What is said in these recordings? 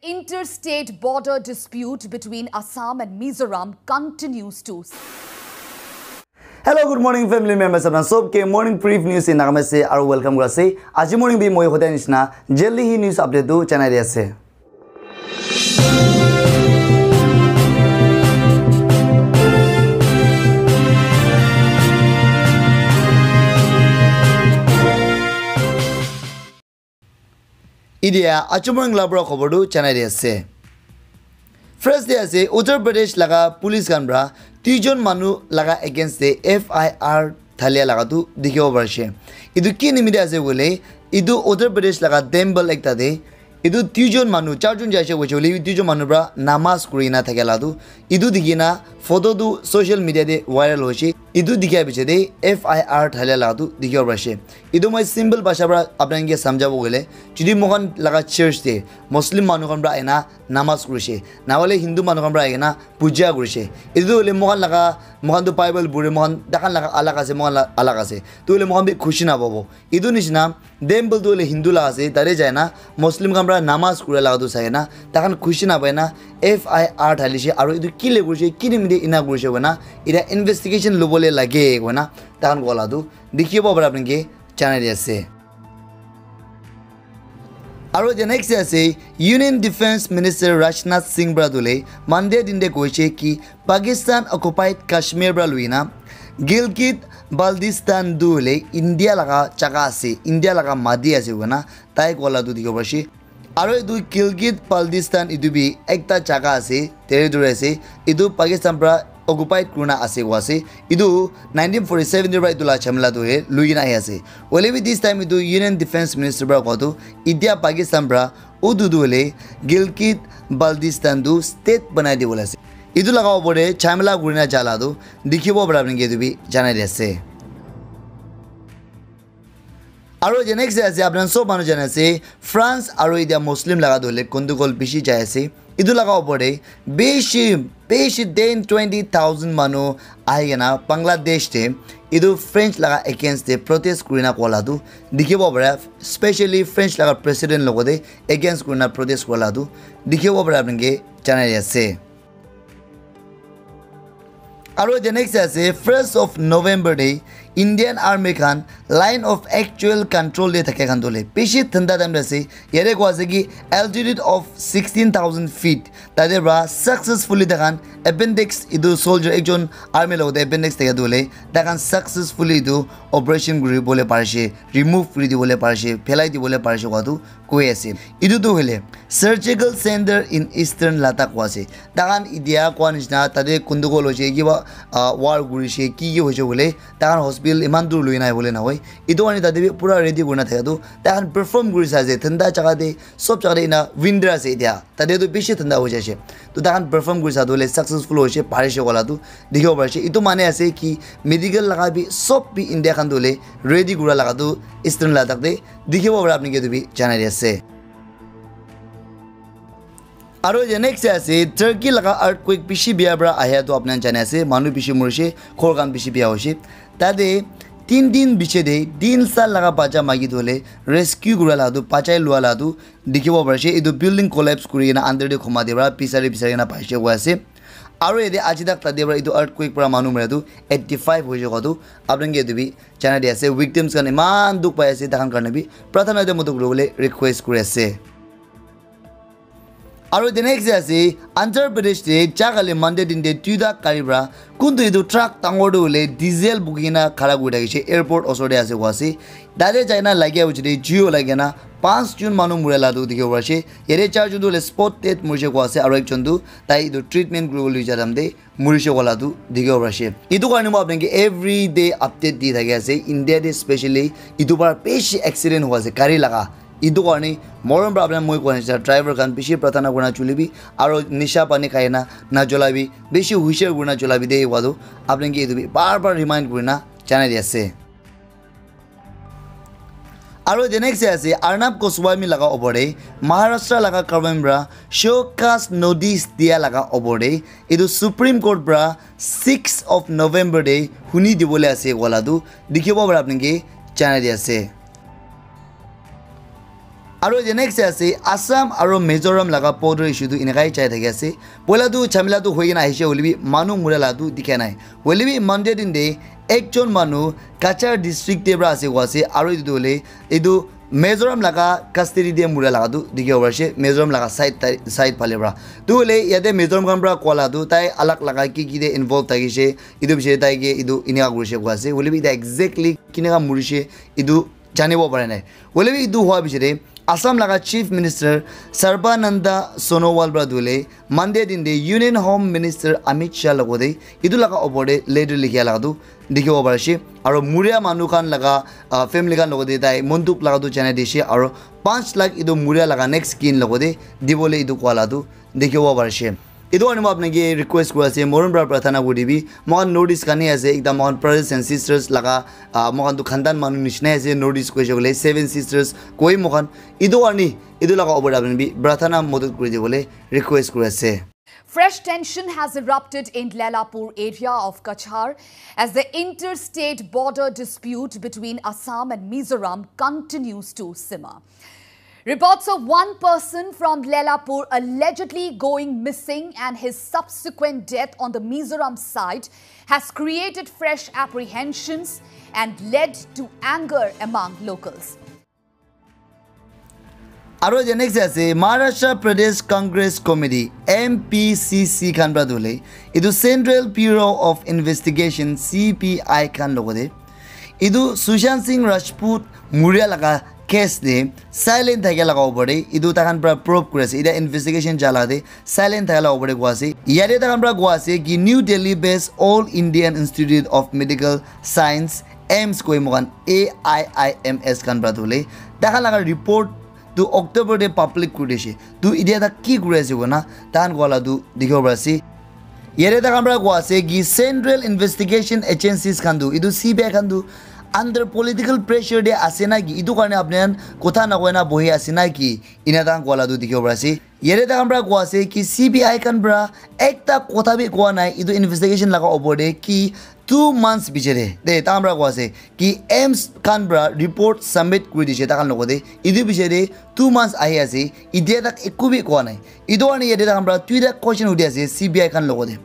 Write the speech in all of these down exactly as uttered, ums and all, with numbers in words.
Interstate border dispute between Assam and Mizoram continues to. Hello, good morning, family members. Apna sob ke morning brief news in Nagamese se aru welcome kura ase. Aji morning bi moi hoda nishina jaldi hi news update tu janai di ase. Idia achumrang labra khobor tu janai di ase. First de ase Uttar Pradesh laga police khan pra duijon manu laga against de F I R thalia laga tu dikhibo parishe. Etu ki nimite ase koile, etu Uttar Pradesh laga temple ekta de etu duijon manu, charjon jaise koise koile bi duijon manu pra namaz kuri na thakia la tu etu dikhi na photo tu social media de viral hoise. Etu dikhia piche de F I R thalia la tu dikhibo parishe. Etu moi simple bhasha pra apni khan ke samjhabo koile, jodi moikhan laga church de Muslim manu khan pra ahina namaz kurishe, na hoile Hindu manu khan pra ahina puja kurishe, etu hoile moikhan laga, moikhan tu Bible pure, moikhan takhan laga alag ase, moikhan la alag ase, tu hoile moikhan bi khushi napabo. Etu nishina temple tu hoile Hindu la ase, tate jai na Muslim khan pra namaz kura laga tu sai na takhan khushi napai na F I R thalishe, aru etu kile kurishe, ki nimite ena kurishe koina eta investigation lobole lage koina takhan koa la tu dikhibo para apni ke janai di ase. Aru the next ase Union Defense Minister Rajnath Singh pra dule Monday din de koise ki Pakistan occupied Kashmir pra luina Gilgit Baltistan dule India laga jaga ase, India laga mati ase koina tai koa la tu dikhibo parishe. Aru etu Gilgit Baltistan etu bi ekta jaga ase, territory ase, etu Pakistan pra occupied kurina ase koa ase. Etu nineteen forty seven de pra etu la jhamela tu he lui kena ahi ase. Hoile bi this time etu Union Defense Minister pra koa tu itia Pakistan pra utu tu hoile Gilgit Baltistan tu state banai dibole ase. Etu laga opor de jhamela kurina jala tu dikhibo para apni ke etu bi janai di ase. Aru the next ase, apni khan sob manu jane ase, France aru etia Muslim laga tu hoile gandagol bishi jai ase. Etu laga opor de bishi, bishi ten, twenty thousand manu ahi kena Bangladesh de etu French laga against de protest kurina koa la tu dikhibo para, specially French laga president logote against kurina protest koa la tu dikhibo para apni ke janai di ase. Aru the next ase, first of November de Indian Army khan line of actual control de thake khan dole bishi thanda time de ase. Yate koa ase ki altitude of sixteen thousand feet tate pra successfully takhan appendix etu soldier ekjon army logote appendix thake dole takhan successfully etu operation kuri bole parishe, remove kuri dibole parishe, phelai dibole parishe koa tu koi ase. Etu tu hoile surgical center in eastern Ladakh koa ase. Takhan itia koa nishina tate gandagol hoise, kiba, ah, war kurishe, ki ki hoise koile takhan hospital iman dur lui na ahibole nahoi. Etu karne tate bi pura ready kurina thaka tu takhan perform kuri sai ase. Thanda jaga de, sob jaga de ena winter ase itia. Tate tu bishi thanda hoi jaise. To takhan perform kuri sa tu hoile successful hoise, parishe koa la tu dikhibo parishe. Etu mane ase ki medical laga bi sob bi India khan tu hoile ready kura laga tu Eastern Ladakh de dikhibo para apni ke etu bi janai di ase. Aru the next ase Turkey laga earthquake bishi bia para ahia tu apni khan jane ase, manu bishi morishe, ghor khan bishi bia hoishe. Tate tin din biche de tin sal laga bacha maki tu hoile rescue kura la tu, bachai lua la tu dikhibo parishe. Etu building collapse kuri kena under de khoma de para bisari bisari kena paishe koi ase. Aru yate aji tak tate para etu earthquake para manu mara tu eighty five hoishe koi tu apni khan ke etu bi janai di ase. Victims khan eman dukh pai ase, takhan karne bi prathana de motok kuribole request kuri ase. Aru the next day ase Andhra Pradesh te jagale Monday din te duita gari para kuntu etu truck dangor tu hoile diesel buki kena khara kuri thakishe airport osor te ase koi ase. Tate jai na lagia piche te jui olai kena panch jon manu mura la tu dikhibo parishe. Yate char jon tu hoile spot dead morishe koi ase, aru ekjon tu tai etu treatment kuribole loi ja time te morishe koa la tu dikhibo parishe. Etu karne moi apni khan ke everyday update di thaki ase. India te specially etu para bishi accident hoi ase gari laga. Etu karne morom para apni khan moi koa nishina driver khan bishi prathana kurina cholibi, aru nisha pani khai na nacholabi, bishi hushar kurina cholabi de koa tu apni khan ke etu bi bar bar remind kurina janai di ase. Aru the next day ase Arnab Goswami laga opor te Maharashtra laga government para show cause notice dia laga opor te etu Supreme Court para six of November te huni dibole ase koa la tu dikhibo para apni khan ke janai di ase. Aro the next ase Assam aro Mizoram laga border issue tu enakai chai thaki ase. Poila tu chamila tu hoi kena ahishe hoilebi manu mura la tu dikha nai. Hoilebi Monday din de ekjon manu Cachar district te pra ase koa ase aro etu tu hoile etu Mizoram laga custody te mura laga tu dikhibo pari ase Mizoram laga side tai- side phale pra. Tu hoile yate Mizoram khan pra koa la tu tai alag laga ki ki te involve thakishe etu bishe tai ke etu enika kurishe koa ase. Hoilebi eta exactly kineka murishe etu janibo pare nai. Hoilebi etu hoa bishe Assam laga Chief Minister Sarbananda Sonowal pra tu hoile Monday din de Union Home Minister Amit Shah logote etu laga opor te letter likhia laga tu dikhibo pari ase aro muria manu khan laga ah, family khan logote tai monduk laga tu janai dishe aro panch lakh etu muria laga next kin logote dibole etu koa la tu dikhibo pari ase. Etu karne moi apni ke request kuri ase moron pra prarthana kuri dibi moikhan North East khan he ase ekdam moikhan brothers and sisters laga ah, moikhan tu khandan manu nishina ase North East koise koile seven sisters koi moikhan etu karne etu laga opor te apni bi prarthana modot kuri dibole request kuri ase. Fresh tension has erupted in Lailapur area of Cachar as the interstate border dispute between Assam and Mizoram continues to simmer. Reports of one person from Lailapur allegedly going missing and his subsequent death on the Mizoram side has created fresh apprehensions and led to anger among locals. Aro the next ase Maharashtra Pradesh Congress Committee M P C C khan pra tu hoile etu Central Bureau of Investigation C B I khan logote etu Sushant Singh Rajput muria laga case te silent thake laga opor te etu takhan pra probe kuri ase eta investigation jala te silent thake laga opor te koa ase yate takhan pra koa ase ki New Delhi based All Indian Institute of Medical Science AIIMS koi moikhan A I I M S khan pra tu hoile takhan laga report tu October te public kuri dishe tu etia tak ki kuri ase koina takhan koa la tu dikhibo pari ase. Yate takhan pra koa ase ki Central Investigation Agencies khan tu etu C B I khan tu under political pressure te ase na ki etu karne apni khan kotha nakoi na bohi ase na ki ena takhan koa la tu dikhibo pari ase. Yate takhan pra koa ase ki C B I khan pra ekta kotha bi koa nai etu investigation laga opor te ki two months bichare de takhan pra koa ase ki AIIMS khan pra report submit kuri dishe takhan logote etu bichare two months ahi ase etia tak eku bi koa nai etu karne yate takhan pra duita question hudi ase C B I khan logote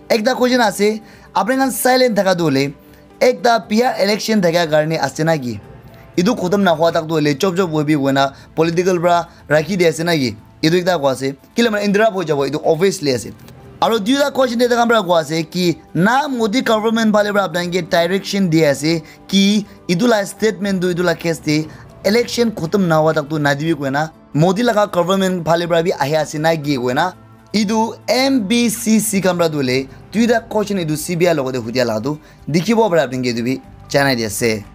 ekta question ase apni khan silent thaka tu hoile ekta biya election thaka karne ase na ki etu khotom na hua tak tu hoile chop chop hoibi koina political pra rakhi di ase na ki etu ekta koa ase kile mane interrupt hoi jabo etu obviously ase aro duita question te takhan pra koa ase ki na Modi government phale pra apni ke direction di ase ki etu la statement tu etu la case te election khotom na hua tak tu na dibi koina Modi laga government phale pra bi ahi ase na ki koina etu M B C C khan pra tu hoile duita question etu C B I logote hudia laga tu dikhibo pare apni ke etu bi janai di ase.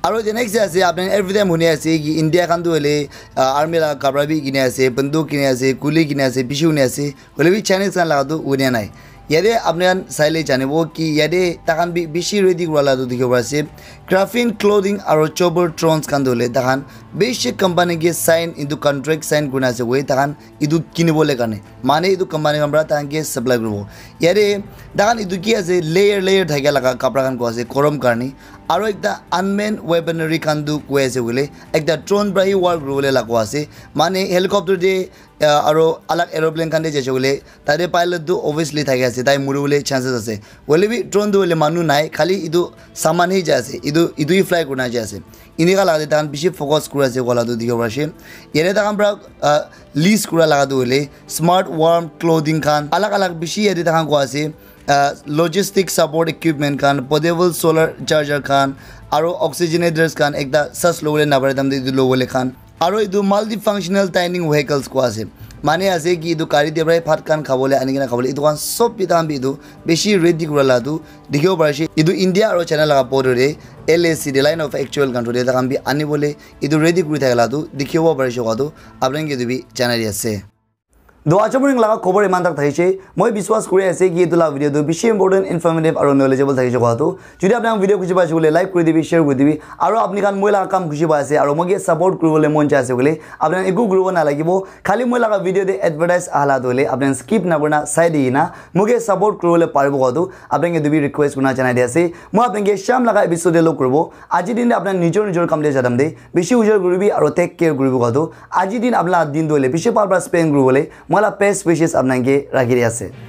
Aro the next day ase apni every time huni ase ki India khan tu hoile uh, army la kapra bi kini ase banduk kini ase kuli kini ase bishi huni ase hoile bi Chinese khan la tu huni nai yate apni khan saile janibo ki yate takhan bi bishi ready kura la tu dikhibo pare ase craft clothing aro chopper drones khan tu hoile takhan bishi company ke sign into contract sign kurina ase hoile takhan etu kinibole karne mane etu company khan para tahan ke supply kuribo yate tahan etu ki ase layer layer thakia laga kapra khan koi ase gorom karne aro ekta unmanned weaponry khan tu koi ase koile ekta drone para he war kuribole la koi ase mane helicopter te uh, aro alag aeroplane khan te jaise koile tate pilot tu obviously thaki ase tai muribole chances ase hoile bi drone tu hoile manu nai khali etu saman he jai ase etu etu he fly kurina jai ase enika lagate tahan bishi focus kuri ase koa la tu dikhibo pari ase yate tahan para uh, list kura laga tu hoile smart warm clothing khan alag alag bishi yate tahan koi ase uh, logistic support equipment khan portable solar charger khan aro oxygenators khan ekta sas lobole napare tamte etu lobole khan aro etu multifunctional dining vehicles koi ase mane ase ki etu gari te para bhat khan khabole ani kena khabole etu khan sob bi tahan bi etu bishi ready kura la tu dikhibo pari ase etu India aro China laga border te L A C te line of actual control te tahan bi anibole etu ready kuri thaka la tu dikhibo pari ase koa tu apni khan ke etu bi janai di ase. Do acha morning laga khobor iman tak thakise. Moi biswas kuri ase ki etu la video tu bishi important, informative aru knowledgeable thakise koa tu. Jodi apni khan video khushi paise koile like kuri dibi, share kuri dibi. Aru apni khan moi laga kam khushi paise aru moi ke support kuri bole mon jai ase koile apni khan eku kuri bo na lagibo. Khali moi laga video te advertise ahala tu hoile apni khan skip na kurina sai di na moi ke support kuri bole paribo koa tu apni khan ke etu bi request kurina janai di ase. Moi apni khan ke sham laga episode te log kuri bo. Aji din te apni khan nijor nijor kam te jadam de bishi ujor kuri bi aru take care kuri bo koa tu. Aji din apni laga din tu hoile bishi bhal para spend kuri bole moi laga best wishes apni khan ke rakhi di ase.